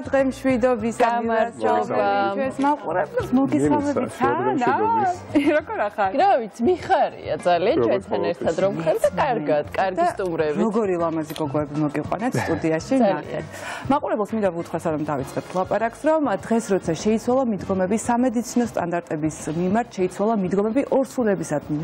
დღემშვიდობის ამირას მაყურებს მოგესალმებით ანა როგორ ახარ? რა ვიცი, მიხარია ძალიან ჩვენთან ერთად რომ ხარ და კარგი სტუმრებით. როგორი ლამაზი გოგოები მოგიყვანეთ სტუდიაში ნახეთ. მაყურებელს მინდა ვუთხრას რომ დავიწყებთ ლაპარაკს რომ დღეს როცა შეიცვალა მიდგომები სამედიცინო სტანდარტების მიმართ შეიცვალა მიდგომები ორსულებისადმი.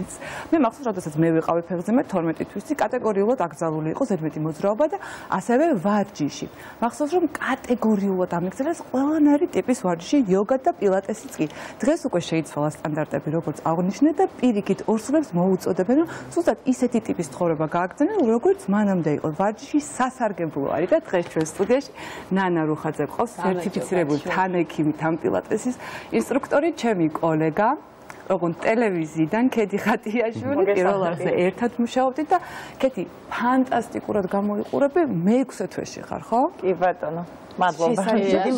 მე მახსოვს როდესაც მე ვიყავი ფეხზე მე 12 თვისი კატეგორიულად აკრძალული იყო ზედმეტი მოძრაობა და ასევე ვარჯიში. მახსოვს რომ კატეგორიულად ამიგზავნეს ყველანაირი ტიპის ვარჯიში, იოგა და პილატესიც კი. დღეს უკვე შეიცვალა სტანდარტები, როგორც აღნიშნე და პირიქით ორსულებს მოუწოდებენ, რომ ზუსტად ისეთი ტიპის ცხოვრება გააგრძენენ, როგორც მანამდე იყო. ვარჯიში სასარგებლო არის და დღეს ჩვენ სტუდიაში ნანა რუხაძე ყავს, სერტიფიცირებული თანექიმი, თან პილატესის ინსტრუქტორი, ჩემი კოლეგა. Როგორც ტელევიზიიდან ქეთი ხატიაშვილი პირველ რიგში ერთად მუშაობდით და ქეთი ფანტასტიკურად გამოიყურები მე-6 თვეში ხარ, ხო? კი ბატონო. მადლობა.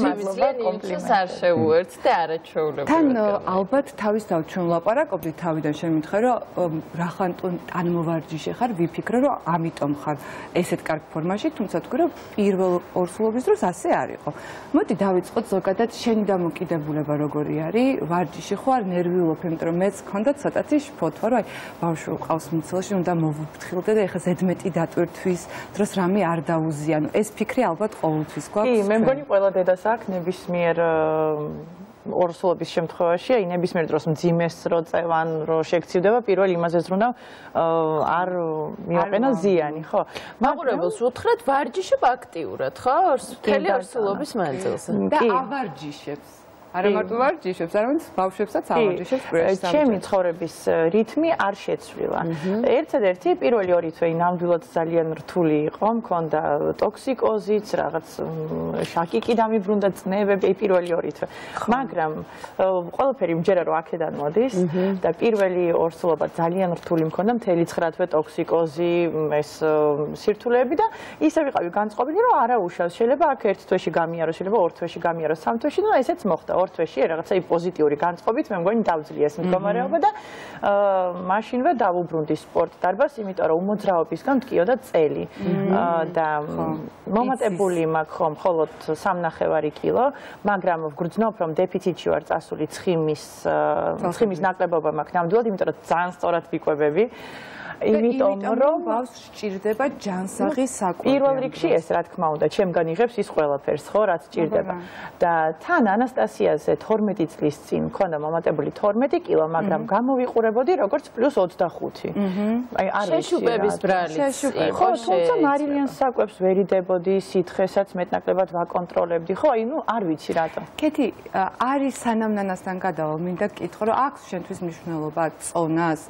მადლობა კომპლიმენტს არ შეუერთთ და არაჩვეულებრივად. თან ალბათ თავისთავად ჩვენ ვლაპარაკობდით თავიდან შემიძლია რომ რახან ტანმოვარჯიშე ხარ, ვიფიქრე რომ ამიტომ ხარ ესეთ კარგ ფორმაში, თუმცა თქვი რომ პირველ ორსულობის დროს ასე არ იყო. მოდი დავიწყოთ ზოგადად შენი დამოკიდებულება როგორი არის? ვარჯიში ხარ, ნერვიულობ, იმიტომ რომ მეც მქონდა ცოტათი შფოთვა, რომ აი ბავშვი ყავს მიცილში, უნდა მოვუფრთხილდე და ეხლა ზედმეტი დატვირთვის დროს რამე არ დაუზიანო. ეს ფიქრი ალბათ ყოველთვის გვაქვს. მე მგონი ყველა დედას აქვს ნებისმიერ ორსულობის შემთხვევაში, აი ნებისმიერ დროს მძიმეს რო წევან, რო შეგცივდება, პირველ იმაზე ზრუნავ არ მიაყენა ზიანი, ხო? მაყურებელს უთხრეთ ვარჯიშობ აქტიურად, ხო? მთელი ორსულობის მანძილზე. და ავარჯიშებს. არა მარტო ვარჯიშებს, არამედ ბავშვებსაც ავარჯიშებს პრესს. ჩემი ცხოვრების რითმი არ შეცვლილა. ერთადერთი პირველი 2 თვე ნამდვილად ძალიან რთული იყო, მქონდა ტოქსიკოზიც, რაღაც შაკიკი დამიბრუნდა, წნევები პირველი 2 თვე. მაგრამ ყველაფერი მჯერა რომ აქედან მოდის და პირველი ორსულობა ძალიან რთული მქონდა, მთელი 9 თვე ტოქსიკოზი, ეს სირთულეები და ისე ვიყავი განწყობილი, რომ არა უშავს, შეიძლება აქ 1 თვეში გამიარო, შეიძლება 2 თვეში გამიარო, 3 თვეში, ну ესეც მოხდა. 2 თვეში რაღაცა პოზიტიური განწყობით მე მგონი დავძლია ეს მდგომარეობა და მაშინვე დავუბრუნდი სპორტ დარბაზს, იმიტომ რომ უმოძრაობისგან მткиოდა წელი და მომატებული მაქვს ხომ მხოლოდ 3.5 კილო, მაგრამ ვგრძნობ რომ დეფიციტში ვარ წასული ცხიმის ნაკლებობა მაქვს ნამდვილად, იმიტომ რომ ძალიან სწორად ვიკვებები. იმიტომ რომ ბავშვს სჭირდება ჯანსაღი საკვები. პირველ რიგში ეს რა თქმა უნდა, ჩემგან იღებს ის ყველაფერს, ხო, რაც სჭირდება. და თან ანასტასიაზე 12 წლის წინ მქონდა მომატებული 12 კილო, მაგრამ გამოვიყურებოდი როგორც +25. აი არ ვიცი. შეშუპების ბრალიც. ხო, თუმცა მარილიანს საკვებს ვერიდებოდი, სითხესაც მეტნაკლებად ვაკონტროლებდი, ხო, აი ნუ არ ვიცი რატო. ქეთი, არის სანამ ნანასთან გადავალ, მინდა გკითხო, რომ აქვს შენთვის მნიშვნელობა წონას,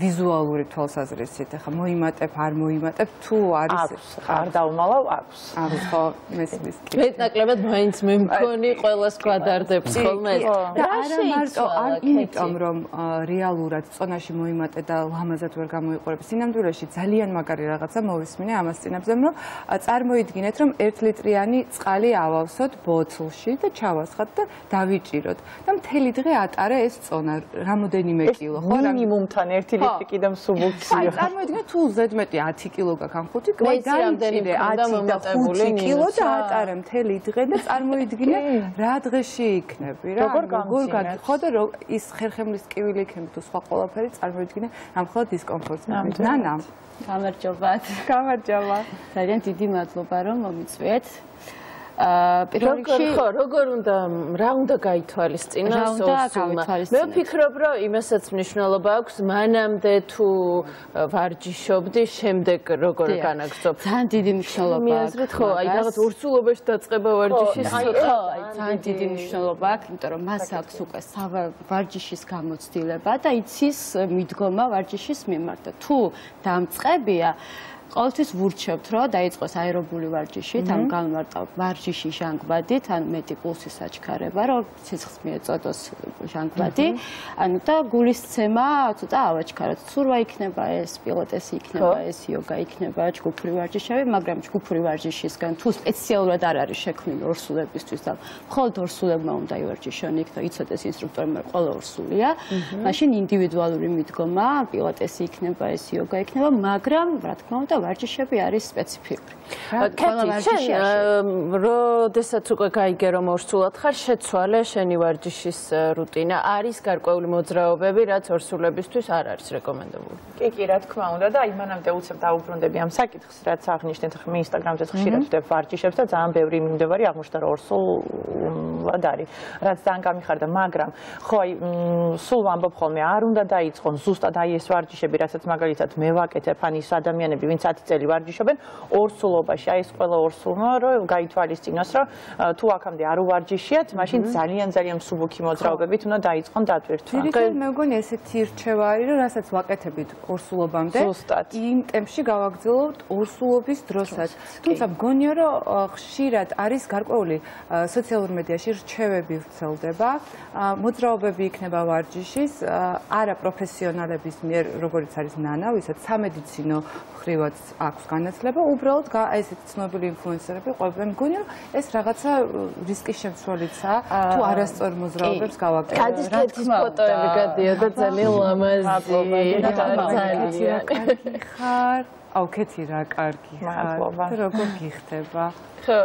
ვიზუალური თვალსაზრისით, ახლა მოიმატებ, არ მოიმატებ, თუ არის არ დავმალავ, აქვს. არის ხო, მესმის. მეტნაკლებად მაინც მე მქონი ყველას გვადარდებს ხოლმე. და არა მარტო იმიტომ რომ რეალურად წონაში მოიმატე და ლამაზად ვერ გამოიყურებ. სინამდვილეში ძალიან მაგარი რაღაცა მოვისმინე ამას წინებზე, რომ წარმოიდგინეთ, რომ 1 ლიტრიანი წყალი ავავსოთ ბოთლში და ჩავასხათ და დავიჭიროთ. და მთელი დღე ატარე ეს წონა, რამოდენიმე კილო, ხო? მინიმუმთან 1 ლიტრი კიდე აი, წარმოიდგინე თუ ზედმეტი 10 კილო გაქვს ამ 5 კილო, დაიჭირე 10 და 5 კილო და ატარე მთელი დღე და წარმოიდგინე რა დღეში იქნები რა. როგორ გაგიხო და ის ხერხემლის ტკივილი იქნება თუ სხვა ყველაფერი წარმოიდგინე ამხელა დისკომფორტს. ნანა, გამარჯობათ. გამარჯობა. ძალიან დიდი მადლობა რომ მომიწვიეთ. პირველ რიგში როგორ უნდა რა უნდა გაითვალისწინოს ორსულმა. მე ვფიქრობ რომ იმასაც მნიშვნელობა აქვს მანამდე თუ ვარჯიშობდი, შემდეგ როგორ განაგრძობ. ძალიან დიდი მნიშვნელობა აქვს. მიაზრეთ ხო, აი რაღაც ორსულობაში დაწყება ვარჯიშის ხო, აი ძალიან დიდი მნიშვნელობა აქვს, იმიტომ რომ მას აქვს უკვე ვარჯიშის გამოცდილება და იცის მიდგომა ვარჯიშის მიმართ. თუ დამწყებია ყოველთვის ვურჩევთ, რომ დაიწყოს აერობული ვარჯიში, თან განმარტა ვარჯიში ჟანგბადით, ან მეტი პულსის აჩქარება, რომ სიცხეს მიეწოდოს ჟანგბადი, ანუ და გულისცემა ცოტა ავაჩქაროთ. სურვა იქნება ეს, პილატესი იქნება ეს, იოგა იქნება, ჯგუფური ვარჯიშები, მაგრამ ჯგუფური ვარჯიშისგან თუ სპეციალურად არ არის შექმნილი ორსულებისთვის და მხოლოდ ორსულებმა უნდა ივარჯიშონ იქ და იცოდეს ინსტრუქტორმა ყველა ორსულია, მაშინ ინდივიდუალური მიდგომა, პილატესი იქნება ეს, იოგა იქნება, მაგრამ რა თქმა უნდა და ვარჯიშები არის სპეციფიკური. კეთი, როდესაც უკვე გაიგე რომ ორსულად ხარ, შეცვალე შენი ვარჯიშის რუტინა, არის გარკვეული მოძრაობები, რაც ორსულებისთვის არ არის რეკომენდებული. კი, რა თქმა უნდა და იმანამდე უცებ დაუბრუნდები ამ საკითხს, რაც აღნიშნეთ, მე ინსტაგრამზე ხშირად ვდებ ვარჯიშებს და ძალიან ბევრი მიმდევარი აღმოჩნდა რომ ორსულად არის, რაც ძალიან გამიხარდა, მაგრამ ხო აი სულ ვამბობ ხოლმე, არ უნდა დაიწყონ ზუსტად აი ეს ვარჯიშები, რასაც მაგალითად მე ვაკეთებ, ან ის ადამიანები, ვინც 10 წელი ვარჯიშობენ, ორსულობაში, აი ეს ყველა ორსულმა რომ გაითვალისწინოს, რომ თუ აქამდე არ უვარჯიშიათ, მაშინ ძალიან მსუბუქი მოძრაობებით უნდა დაიწყონ დატვირთვა. მე მგონი ესეთი რჩევა არის, რომ რასაც ვაკეთებით ორსულობამდე, იმ ტემპში გავაგრძელოთ ორსულობის დროსაც. თუმცა მგონია, რომ ხშირად არის გარკვეული სოციალურ მედიაში რჩევები ვრცელდება, მოძრაობები იქნება ვარჯიშის, არა პროფესიონალების მიერ, როგორც არის ნანა, ვისაც სამედიცინო ხრივაც აქვს განათლება, უბრალოდ ესეთი ცნობილი ინფლუენსერები ყვებენ. მგონია, რომ ეს რაღაცა რისკის შემცველიცაა, თუ არასწორ მოძრაობებს გავაკეთებთ. კაცის კეთის ფოტოები გადიოდა ძალიან ლამაზი. აუ, კეთი რა კარგი ხარ. როგორ გიხდება? ხო,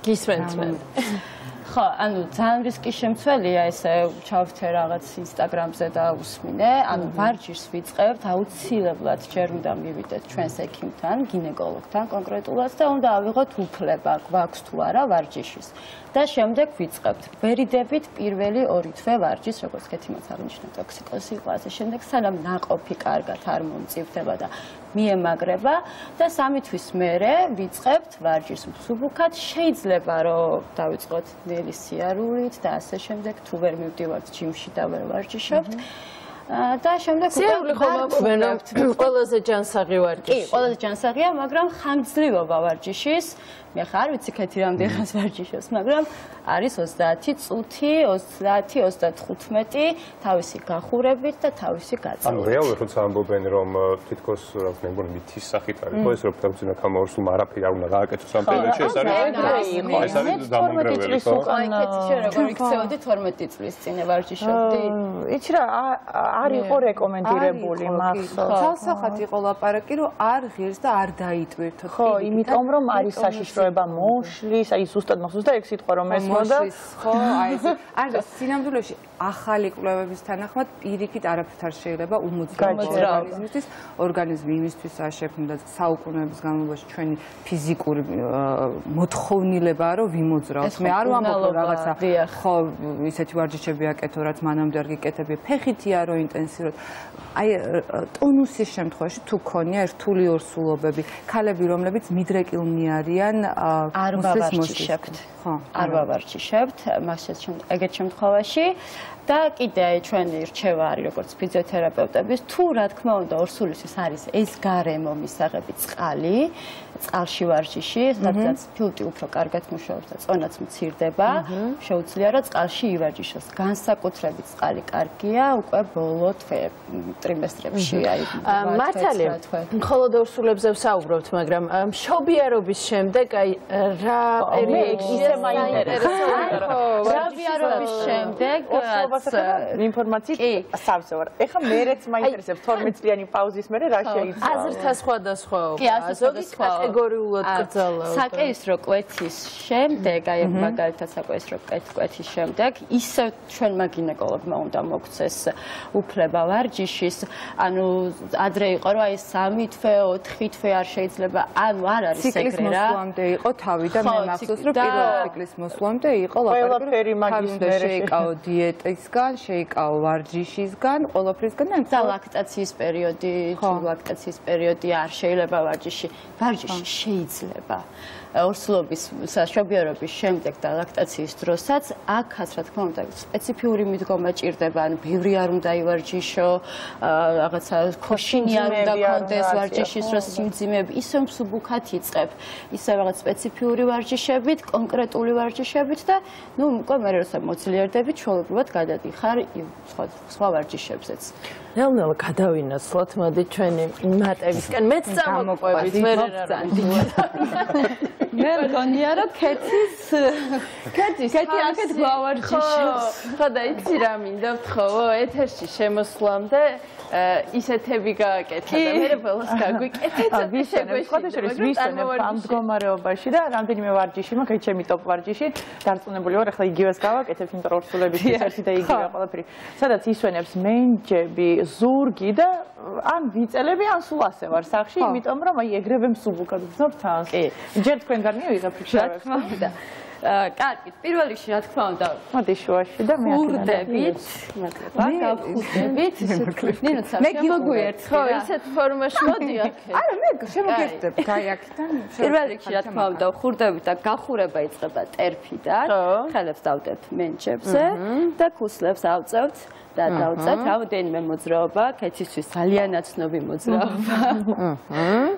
გისმენთ მე. ხო, ანუ ძალიან რისკის შემცველია ესე ჩავთე რაღაც ინსტაგრამზე და უსმინე, ანუ ვარჯიშს ვიწყებთ, აუცილებლად ჯერ უნდა მივიდეთ ჩვენს ექიმთან, გინეკოლოგთან კონკრეტულად და უნდა ავიღოთ უფლება, გვაქვს თუ არა ვარჯიშის. და შემდეგ ვიწყებთ. ვერიდებით პირველი 2 თვე ვარჯიშს, როგორც კეთიმაც აღნიშნა, ტოქსიკოზი იყო, ასე შემდეგ, სანამ ნაყოფი კარგად არ მომწიფდება და მიემაგრება და 3 თვის მერე ვიწყებთ ვარჯიშს მსუბუქად. შეიძლება რომ დავიწყოთ ნელი სიარულით და ასე შემდეგ, თუ ვერ მივდივართ ჯიმში და ვერ ვარჯიშობთ. და შემდეგ სიარული ხომ აკვირდებთ, ყველაზე ჯანსაღი ვარჯიში. კი, ყველაზე ჯანსაღია, მაგრამ ხანგრძლივობა ვარჯიშის. მე ხარ ვიცი კეთი რამდენი ხანს ვარჯიშობს, მაგრამ არის 30 წუთი, 30, 35 თავისი გახურებით და თავისი გაწევით. ანუ რეალურად როცა ამბობენ რომ თითქოს რა თქმა უნდა მითის სახით არის, ხო ეს რომ თავზენა კამორსულმა არაფერი არ უნდა გააკეთოს ამ პერიოდში, ეს არის ეს არის დამანგრეველი, ხო? აი კეთი შენ როგორ იქცეოდი 12 წლის წინ ვარჯიშობდი? იცი რა არ იყო რეკომენდირებული მახსოვს. ცალსახად იყო ლაპარაკი, რომ არ ღირს და არ დაიტვირთო. ხო, იმიტომ რომ არის საშიშროება მოშლის, აი ზუსტად მახსოვს და ეგ სიტყვა რომ ესმოდა. ხო, აი ეს არის სინამდვილეში ახალი კვლევების თანახმად პირიქით არაფრით არ შეიძლება უმოძრაობა ორგანიზმი იმისთვის არ შექმნა საუკუნეების განმავლობაში ჩვენი ფიზიკური მოთხოვნილებაა რომ ვიმოძრაოთ. მე არ ვამბობ რომ რაღაცა ხო ისეთი ვარჯიშები აკეთო რაც მანამდე არ გიკეთებია, ფეხითია რომ ინტენსიურად. აი ტონუსის შემთხვევაში თუ ქონია რთული ორსულობები, ქალები რომლებიც მიდრეკილნი არიან არ ვავარჯიშებთ. ხო, არ ვავარჯიშებთ, ეგეთ შემთხვევაში და კიდე ჩვენი რჩევა არის როგორც ფიზიოთერაპევტების, თუ რა თქმა უნდა ორსულისთვის არის ეს გარემო მისაღები წყალი, წყალში ვარჯიში, სადაც ფილტვი უფრო კარგად მუშაობს და წონაც მცირდება, შეუძლია რომ წყალში ივარჯიშოს. განსაკუთრებით წყალი კარგია უკვე ბოლო ტრიმესტრებში, აი მართალია. მხოლოდ ორსულებზე ვსაუბრობთ, მაგრამ მშობიარობის შემდეგ აი რა პერიოდში ისე მაინტერესებს. მშობიარობის შემდეგ ინფორმაციით სავსე ვარ. ეხლა მერეც მაინტერესებს 12 წლიანი პაუზის მერე რა შეიცვალა. აზრთა სხვადასხვაობა. ზოგი კატეგორიულად კრძალავდა. საკეისრო კვეთის შემდეგ, აი მაგალითად საკეისრო კვეთის შემდეგ, ისევ ჩვენმა გინეკოლოგმა უნდა მოგცეს უფლება ვარჯიშის. ანუ ადრე იყო რომ აი 3 თვე, 4 თვე არ შეიძლება, ანუ არ არის ეგრე რა. ციკლის მოსვლამდე იყო თავი და მე მახსოვს რომ პირველ ციკლის მოსვლამდე იყო ყველაფერი მაგის მერე შეიკაო დიეტისგან, შეიკაო ვარჯიშისგან, ყველაფრისგან და ლაქტაციის პერიოდი, თუ ლაქტაციის პერიოდი არ შეიძლება ვარჯიში შეიძლება. ორსულობის მშობიარობის შემდეგ და ლაქტაციის დროსაც აქაც რა თქმა უნდა სპეციფიური მიდგომა ჭირდება, ანუ ბევრი არ უნდა ივარჯიშო, რაღაცა ქოშინი არ უნდა კონდეს ვარჯიშის დროს სიმძიმეები, ისე მსუბუქად იწყებ, ისე რაღაც სპეციფიური ვარჯიშებით, კონკრეტული ვარჯიშებით და ნუ უკვე მე როცა მოძლიერდები, ჩვეულებრივად გადადიხარ სხვა ვარჯიშებზეც. ნელ-ნელა გადავინაცვლოთ, მოდი ჩვენი მატებისკენ. მეც წამოყვებით, მე რა მე მგონია რომ კეთი აქეთ გვავარჯიშებს. ხო და იცი რა მინდა ვთხოვო, ეთერში შემოსვლამდე ისეთები გააკეთა და მე ბოლოს გაგვიკეთეთ. ვისვენებ ამ მდგომარეობაში და რამდენიმე ვარჯიში მაქვს, ჩემი ტოპ ვარჯიში დარწმუნებული ვარ, ახლა იგივეს გავაკეთებ, იმიტომ რომ ორსულების ერთი და იგივე ყველაფერი. სადაც ისვენებს მენჯები, ზურგი და ან ვიწელები, ან სულ ასე ვარ სახში, იმიტომ რომ აი ეგრევე მსუბუქად ვძნობ თავს. ჯერ თქვენ გარნია ვიღებ ფიქრებს. კარგი, პირველ რიგში რა თქმა უნდა, მოდი შუაში და მე ხურდებით, გავხურდებით, ნინოცა შემოგვიერთდი. ხო, ისეთ ფორმაში მოდიახ. არა, მე შემოგერთდებ, გაი აქედან. პირველ რიგში რა თქმა უნდა, ხურდებით და გახურება იწყება ტერფიდან, ხელებს დავდებთ მენჩებზე და ქუსლებს ავწევთ. და დავწევთ რამოდენიმე მოძრაობა, კეთისთვის ძალიან ნაცნობი მოძრაობა.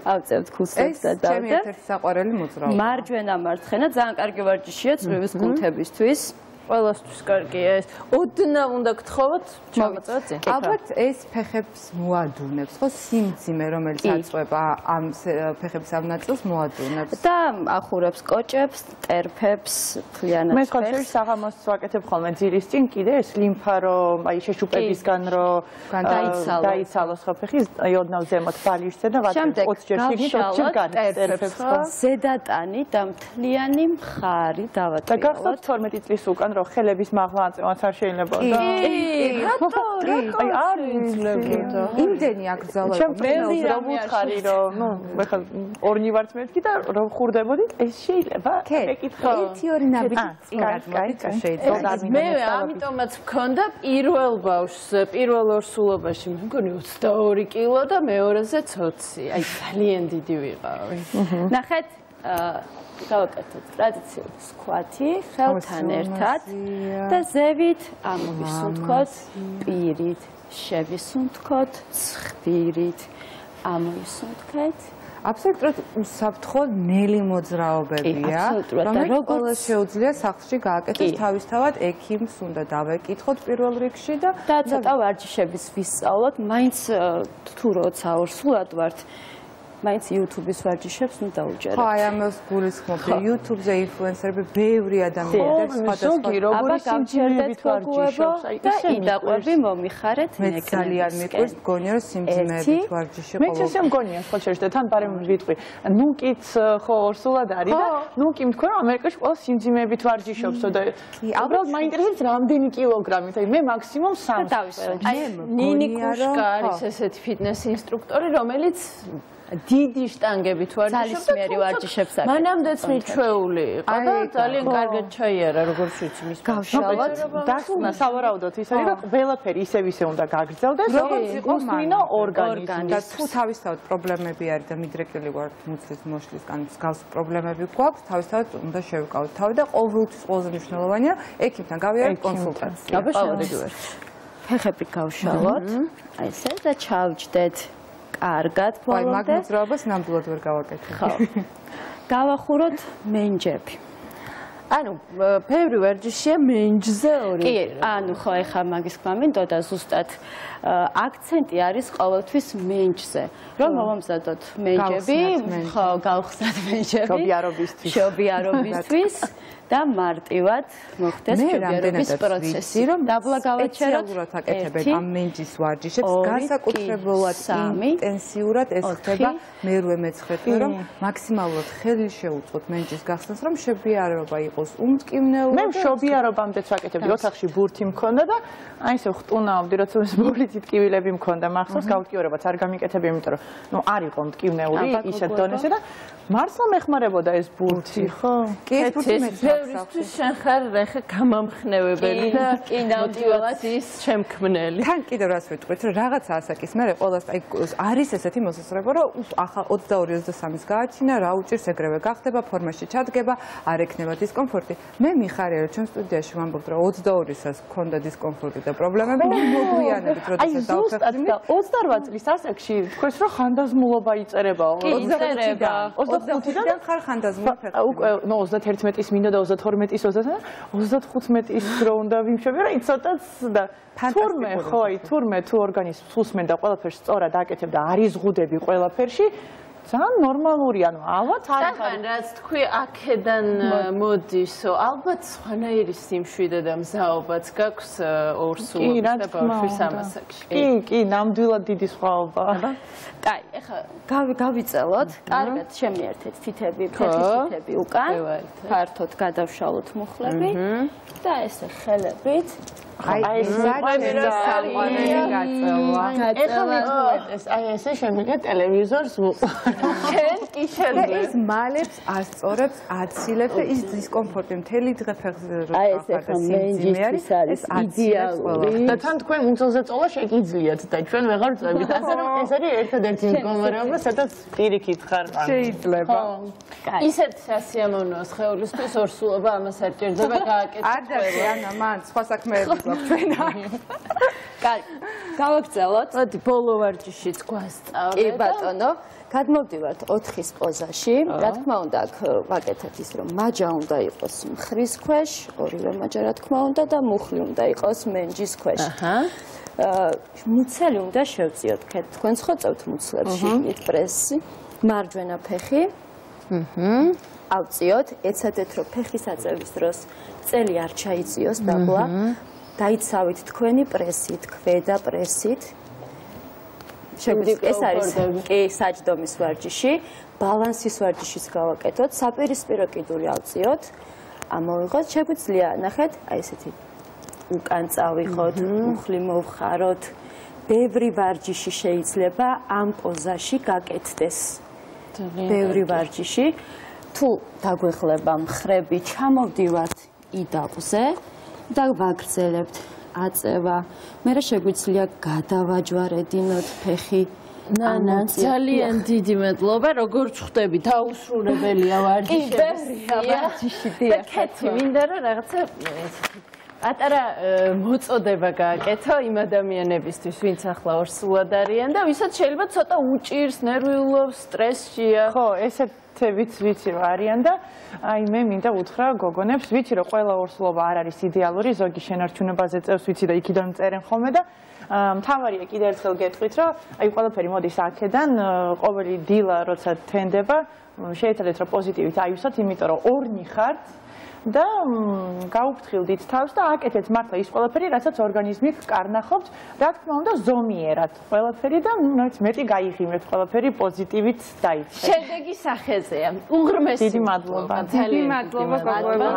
ავწევთ ქუსლებს და დავწევთ. ეს ჩემი ერთ-ერთი საყვარელი მოძრაობა. მარჯვენა მარცხენა ძალიან კარგი ვარჯიშია წვივის კუნთებისთვის. ყველასთვის კარგია ეს. ოდნა უნდა გთხოვოთ, ჩამოწევთ. ალბათ ეს ფეხებს მოადუნებს, ხო, სიმძიმე, რომელიც აწვება ამ ფეხების ამ ნაწილს მოადუნებს. და ახურებს კოჭებს, ტერფებს, მთლიანად. მე სხვა შორის საღამოს ვაკეთებ ხოლმე ძირის წინ კიდე ეს ლიმფა რომ აი შეშუპებისგან რომ დაიცალოს ხო ფეხი, აი ოდნავ ზემოთ ბალიშზე და ვაკეთებ 20 ჯერ შიგნით 20 ჯერ ტერფებს. ზედატანი და მთლიანი მხარი დავატოვოთ. და გახსოვთ 12 წლის უკან რომ ხელების მაღლა აწევაც არ შეიძლება და აი არ იძლებოდა იმდენი აკრძალა მე ვუთხარი რომ ნუ მე ხა ორნი ვართ მეთქი და რომ ხურდებოდი ეს შეიძლება ეკითხა 1-2 ნაბიჯი წინად მოდი შეიძლება მე ამიტომაც მქონდა პირველ ბავშვს პირველ ორსულობაში მე მგონი 22 კილო და მეორეზე 20 აი ძალიან დიდი ვიყავი ნახეთ გავაკეთოთ ტრადიციული სკვათი ხელთან ერთად და ზევით ამოვისუნთქოთ პირით, შევისუნთქოთ ცხვირით, ამოვისუნთქეთ. აბსოლუტურად უსაფრთხო ნელი მოძრაობებია, რომელიც შეუძლია სახლში გააკეთოს თავისთავად ექიმს უნდა დავეკითხოთ პირველ რიგში და ცოტა ვარჯიშების ვისწავლოთ, მაინც თუ როცა ორსულად ვართ მაინც YouTube-ის ვარჯიშებს ნუ დაუჯერებთ. ხო, აი ამას გულისხმობდი. YouTube-ზე ინფლუენსერები ბევრი ადამიანები სხვადასხვა როგორი სიმძიმეებით ვარჯიშობს. აი და იდაყვები მომიხარეთ ნეკნებს. მე ძალიან მიყვარს, მგონია რომ სიმძიმეებით ვარჯიში ყოველთვის. მე ესე მგონია სხვა შეიძლება თან პარემ ვიტყვი. ნუკიც ხო ორსულად არის და ნუკი თქვა რომ ამერიკაში ყველა სიმძიმეებით ვარჯიშობსო და უბრალოდ მაინტერესებს რამდენი კილოგრამით. აი მე მაქსიმუმ 3. აი ნინი კუშკა არის ესეთი ფიტნეს ინსტრუქტორი, რომელიც დიდი შტანგებით ვარჯიშობს და ძალისმიერი ვარჯიშებს აკეთებს. მანამდეც მიჩვეული იყო და ძალიან კარგად ჩაიარა როგორც ვიცი მის გავშალოთ. დასკვნა სავარაუდოდ ის არის რომ ყველაფერი ისევ უნდა გაგრძელდეს როგორც იყო მინო ორგანიზმი. და თუ თავისთავად პრობლემები არის და მიდრეკილი ვარ მუცლის მოშლის კან მსგავს პრობლემები გვაქვს, თავისთავად უნდა შევიკავოთ თავი და ყოველთვის ყველაზე მნიშვნელოვანია ექიმთან გავიარეთ კონსულტაცია. ყოველდღიურად. ფეხები გავშალოთ. აი ესე და ჩავჯდეთ. კარგად ბოლომდე. აი მაგ მოძრაობას ნამდვილად ვერ გავაკეთებ. ხო. გავახუროთ მენჯები. ანუ ბევრი ვარჯიშია მენჯზე ორი. კი, ანუ ხო ეხა მაგის თქმა მინდოდა ზუსტად აქცენტი არის ყოველთვის მენჯზე. რომ მომამზადოთ მენჯები, ხო, გავხსნათ მენჯები. შობიარობისთვის. და მარტივად მოხდეს შობიარობის პროცესი. რომ დაბლა გავაჩეროთ სპეციალურად აკეთებენ ამ მენჯის ვარჯიშებს, განსაკუთრებულად ინტენსიურად ეს ხდება მერვე მეცხრეთმე, რომ მაქსიმალურად ხელი შეუწყოთ მენჯის გახსნას, რომ შობიარობა იყოს უმტკივნეული. მე შობიარობამდეც ვაკეთებდი, ოთახში ბურთი მქონდა და აი ესე ხტუნავდი, როცა ეს ბოლით ტკივილები მქონდა, მახსოვს გაუტკივრებაც არ გამიკეთებია, იმიტომ რომ ნუ არ იყო მტკივნეული ისეთ დონეზე და მართლა მეხმარებოდა ეს ბურთი, ხო? კი, ეს ბურთი ბევრისთვის შენ ხარ ახლა გამამხნევებელი და მოტივაციის შემქმნელი. თან კიდევ რას ვიტყვით, რომ რაღაცა ასაკის მერე ყველას აი არის ესეთი მოსასწრება, რომ ახლა 22-23-ის გააჩინა, რა უჭირს ეგრევე გახდება, ფორმაში ჩადგება, არ ექნება დისკომფორტი. მე მიხარია, რომ ჩვენ სტუდიაში ვამბობთ, რომ 22-ისაც გქონდა დისკომფორტი და პრობლემები, მოგვიანებით, როდესაც დავხერხდით. 28 წლის ასაკში თქვენს რომ ხანდაზმულობა იწერებაო. 25-დან ხარ ხანდაზმული ფეხი. უკვე ნუ 31-ის მინდა და 32-ის 35-ის რო უნდა ვიმშობი, რა იცოდაც და თურმე ხო აი თურმე თუ ორგანიზმს უსმენ და ყველაფერს სწორად აკეთებ და არის ზღუდები ყველაფერში ძალიან ნორმალური, ანუ ალბათ არ თან რაც თქვი აქედან მოდისო, ალბათ სხვანაირი სიმშვიდე და მზაობაც გაქვს ორსულობის და ბავშვის ამასაკში. კი, ნამდვილად დიდი სხვაობა. კაი, ეხლა გავიწელოთ, კარგად შემიერთეთ თითები, ფეხის თითები უკან, ფართოდ გადავშალოთ მუხლები და ესე ხელებით აი ესე შემიძლია ტელევიზორს შენ კი შეძლებ. ეს მალებს ასწორებს, აცილებს და ის დისკომფორტი მთელი დღე ფეხზე აი ეს ახლა მენჯისთვის არის იდეალური. და თან თქვენ მუცელზე წოლა შეგიძლიათ და ჩვენ ვეღარ წვევით. ასე რომ ეს არის ერთადერთი მდგომარეობა, სადაც პირიქით ხარ. შეიძლება. ისეთ სასიამოვნო სხეულისთვის ორსულობა ამას არ ჭირდება გააკეთო. ადრე ანა მან სხვა საქმეები გვაქვს ჩვენ. კაი, გავაგრძელოთ. მოდი ბოლო ვარჯიშიც გვასწავლეთ. კი ბატონო, გადმოვდივართ 4-ის პოზაში. რა თქმა უნდა, აქ ვაკეთეთ ის, რომ მაჯა უნდა იყოს მხრის ქვეშ, ორივე მაჯა რა თქმა უნდა და მუხლი უნდა იყოს მენჯის ქვეშ. მუცელი უნდა შევწიოთ. თქვენ ხო წევთ მუცლებში პრესი, მარჯვენა ფეხი. ავწიოთ, ეცადეთ რომ ფეხის აწევის დროს წელი არ ჩაიწიოს დაბლა. დაიცავით თქვენი პრესით, ქვედა პრესით. ეს არის კი საჯდომის ვარჯიში, ბალანსის ვარჯიშიც გავაკეთოთ, საპირისპირო კიდური ავწიოთ. ამოვიღოთ, შეგვიძლია ნახეთ, აი ესეთი უკან წავიხოთ, მუხლი მოვხაროთ. ბევრი ვარჯიში შეიძლება ამ პოზაში გაკეთდეს. ბევრი ვარჯიში. თუ დაგვეხლება მხრები, ჩამოვდივართ იდაბზე და ვაგრძელებთ აწევა. მერე შეგვიძლია გადავაჯვარედინოთ ფეხი. ნანა, ძალიან დიდი მადლობა, როგორ ხვდები, დაუსრულებელია ვარჯიში. და კეთი, მინდა რომ რაღაცა პატარა მოწოდება გააკეთო იმ ადამიანებისთვის, ვინც ახლა ორსულად არიან და ვისაც შეიძლება ცოტა უჭირს, ნერვიულობს, სტრესშია. ხო, ესეთებიც ვიცი რომ არიან და აი მე მინდა უთხრა გოგონებს, ვიცი რომ ყველა ორსულობა არ არის იდეალური, ზოგი შენარჩუნებაზე წევს, ვიცი და იქიდან წერენ ხოლმე და მთავარია კიდევ ერთხელ გეტყვით, რომ აი ყველაფერი მოდის აქედან, ყოველი დილა როცა თენდება, შეეცადეთ რომ პოზიტივით აივსოთ, იმიტომ რომ ორნი ხართ და გაუფრთხილდით თავს და აკეთეთ მართლა ის ყველაფერი, რასაც ორგანიზმი კარნახობს, რა თქმა უნდა ზომიერად ყველაფერი და ნუ მეტი გაიღიმეთ ყველაფერი პოზიტივით დაიწყეთ. შედეგი სახეზეა. უღრმესი დიდი მადლობა. დიდი მადლობა გოგოებო.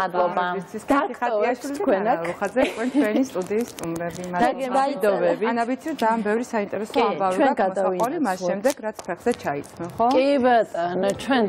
დაქტოებს თქვენ აქ. ხაზე თქვენი სტუდიის სტუმრები. მადლობა. ანა ვიცი ძალიან ბევრი საინტერესო ამბავი გაქვთ მოსაყოლი მას შემდეგ რაც ფეხზე ჩაიცნო, ხო? კი ბატონო, ჩვენ